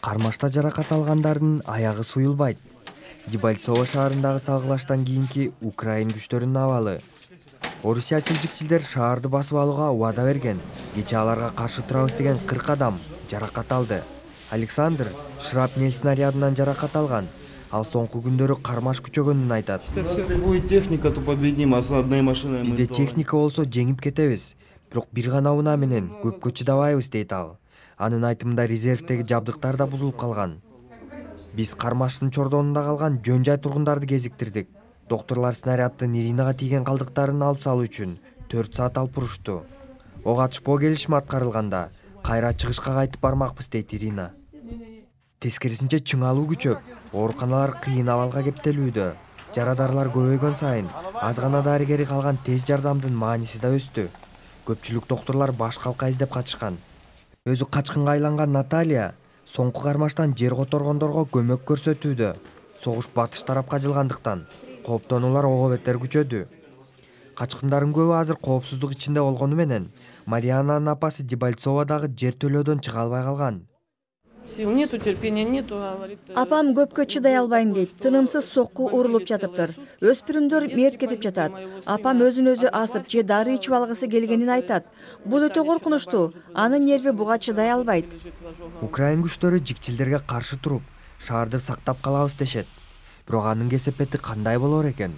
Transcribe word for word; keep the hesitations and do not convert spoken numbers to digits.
Кармашта жаракат алгандардын аягы суюлбайт. Дебальцово шаарындагы салгылаштан кийинки Украин күчтөрүнүн абалы. Орусиячыл жикчилдер шаарды басып алууга убада берген. Кечээ аларга каршы турабыз деген кырк адам жаракат алды. Александр шрапнель снарядынан жаракат алган. Ал соңку күндөрү кармаш күчөгөнүн айтат. Бизде техника болсо жеңип кетебиз. Бирок бир гана унаа менен көпкө чыдабайбыз дейт ал. Анын айтымында резервдеги жабдыктар да бузулуп калган. Биз кармаштын чордонунда калган жөн жай тургундарды кезиктирдик. Доктурлар снаряддын Иринага тийген калдыктарын алып салуу үчүн төрт саат алып бурушту. Ок атышпоо келишими аткарылганда кайра чыгышка кайтып бармакпыз дейт Ирина. Тескерисинче чыңалуу күчөп, ооруканалар кыйын абалга кептелүүдө. Жарадарлар көбөйгөн сайын аз гана дарыгери калган тез жардамдын мааниси да өстү. Көпчүлүк доктурлар баш калка издеп качышкан. Өзү качкынга айланган Наталья соңку кармаштан жер которгондорго көмөк көрсөтүүдө. Согуш батыш тарапка жылгандыктан кооптонуулар ого бетер күчөдү. Качкындардын көбү азыр коопсуздук ичинде болгону менен Мариананын апасы Дебальцоводагы жер төлөөдөн чыга албай калган. Сил нету, терпения нету, говорит. Апам көпкө чыдай албайм дейт. Тынымсыз сокку урулуп жатыптыр. Өспүрүмдөр мерт кетип жатат. Апам өзүн өзү асып же дары ичип алгысы келгенин айтат. Бул өтө коркунучтуу. Анын нерви буга чыдай албайт. Украин күчтөрү жикчилдерге каршы туруп, шаарды сактап калабыз дешет. Бирок анын кесепети кандай болор экен?